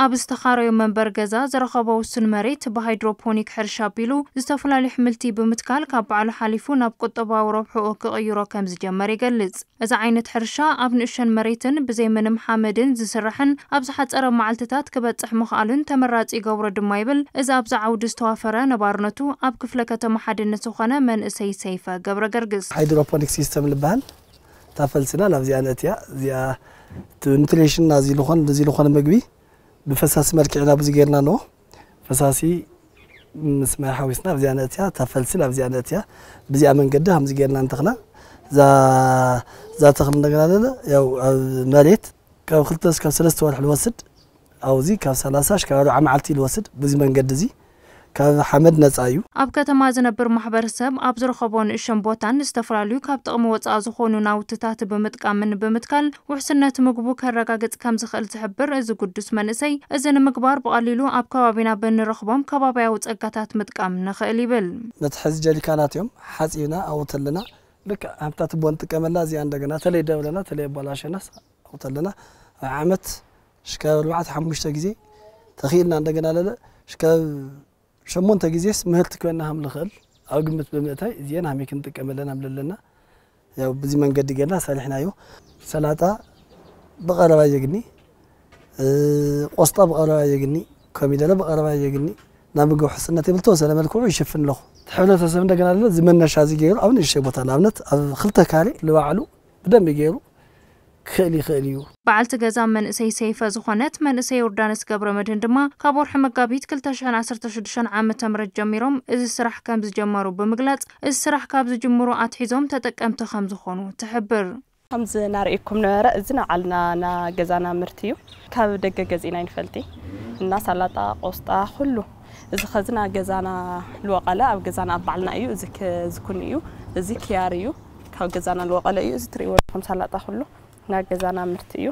ኣብ ዝተኻረዩ መንበር ገዛ ዝረኸቦ ውሱን መሬት ብሃይድሮፖኒክ ሕርሻ ኣቢሉ ዝተፈላለዩ ኣሕምልቲ ብምትካል ካብ ባዕሉ ሓሊፉ ናብ ቁጠባዊ ረብሕኡ ክቕይሮ ከም ዝጀመር ይገልጽ። እዚ ዓይነት ሕርሻ ኣብ ንእሸን መሬትን ብዘይ ምንም ሓመድን ዝስራሕን ኣብ ዝሓጸረ መዓልትታት ክበጽሕ ምኽኣሉን ተመራጺ ይገብሮ ድማ ይብል። እዚ ኣብዚ ዓውዲ ዝተዋፈረ ነባርነቱ ኣብ ክፍለ ከተማ ሓድነት ዝኾነ መንእሰይ ሰይፈ ገብረ ገርግስ። ሃይድሮፖኒክ ሲስተም ዝበሃል እታ ፈልስና ናብዚኣ ነእትያ። እዚኣ እቲ ኒትሪሽን ናዚ ዝኾን እዚ ዝኾነ ምግቢ ብፈሳሲ መልክዕ ናብ እዚ ጌርና ኣለዎ። ፈሳሲ ምስ ማይ ሓዊስና ኣብዚኣ ነእትያ፣ እታ ፈልሲ ኣብዚኣ ነእትያ። ብዚኣ መንገዲ ከምዚ ጌርና እንተኽላ እዛ እዛ ተኽሊ እንደገና ለለ ያው ኣብ መሬት ካብ ክልተ እስካብ ሰለስተ ወርሒ ልወስድ፣ ኣብዚ ካብ ሰላሳ እስካብ ኣርብዓ መዓልቲ ልወስድ። ብዚ መንገዲ እዚ ካብ ሓመድ ነፃ እዩ። ኣብ ከተማ ዝነብር ማሕበረሰብ ኣብ ዝረኸቦ ንእሸን ቦታን ዝተፈላለዩ ካብ ጥቕሚ ወፃኢ ዝኾኑ ናውትታት ብምጥቃምን ብምትካል ውሕስነት ምግቡ ከረጋግፅ ከም ዝኽእል ዝሕብር እዚ ግዱስ መንእሰይ፣ እዚ ንምግባር ብቐሊሉ ኣብ ከባቢና ብንረኽቦም ከባቢያዊ ፀጋታት ምጥቃም ንኽእል ይብል። መትሐዚ ጀሪካናት እዮም ሓፂብና ኣብኡ ተለና ልክዕ ሃምታ ትቦ ንጥቀመላ። እዚኣ እንደገና ተለይ ደብረና ተለይ ኣባላሸናስ ኣብኡ ተለና ኣብ ዓመት ሽካብ ኣርባዕተ ሓሙሽተ ግዜ ተኽኢልና እንደገና ለለ ሽካብ ሸሞንተ ግዜስ ምህርቲ ኮይና ከም ልኽእል ኣብ ግምት ብምእታይ እዚአን ሃመይ ክንጥቀመለን ኣብ ለለና ያው ብዚ መንገዲ ጌርና ሰሪሕናዮ። ሰላጣ ብቐረባ የግኒ፣ ቆስጣ ብቐረባ የግኒ፣ ኮሚደረ ብቐረባ የግኒ። ናብ ምግቢ ውሕስነት የብል ተወሰነ መልክዑ ይሽፍን ኣለኹ። እቲ ሕብረተሰብ እንደገና ለለ ዝመነሻ እዚ ገይሩ ኣብ ንእሽተይ ቦታ ንኣብነት ኣብ ክልተ ካሬ ልባዕሉ ብደንቢ ገይሩ ክኽእል ይኽእል እዩ። በዓልቲ ገዛ መንእሰይ ሰይፈ ዝኾነት መንእሰይ ዮርዳኖስ ገብረመድህን ድማ ካብ ወርሒ መጋቢት ክልተ ሽሕን ዓሰርተ ሽዱሽተን ዓመተ ምህረት ጀሚሮም እዚ ስራሕ ከም ዝጀመሩ ብምግላጽ፣ እዚ ስራሕ ካብ ዝጅምሩ ኣትሒዞም ተጠቀምቲ ከም ዝኾኑ ትሕብር። ከምዚ እናርእየኩም ነበረ፣ እዚ ንባዕልና ና ገዛና ምህርቲ እዩ። ካብ ደገ ገዚእና ኣይንፈልጥ እና ሳላጣ፣ ቆስጣ፣ ኩሉ እዚ ኸዚ ና ገዛና ልወቐለ ኣብ ገዛና ኣብ ባዕልና እዩ። እዚ ክ- እዚ ኩኒ እዩ። እዚ ክያር እዩ። ካብ ገዛና ልወቐለ እዩ። እዚ ትርእይዎ ኣለኹም ሳላጣ ኩሉ ና ገዛና ምህርቲ እዩ።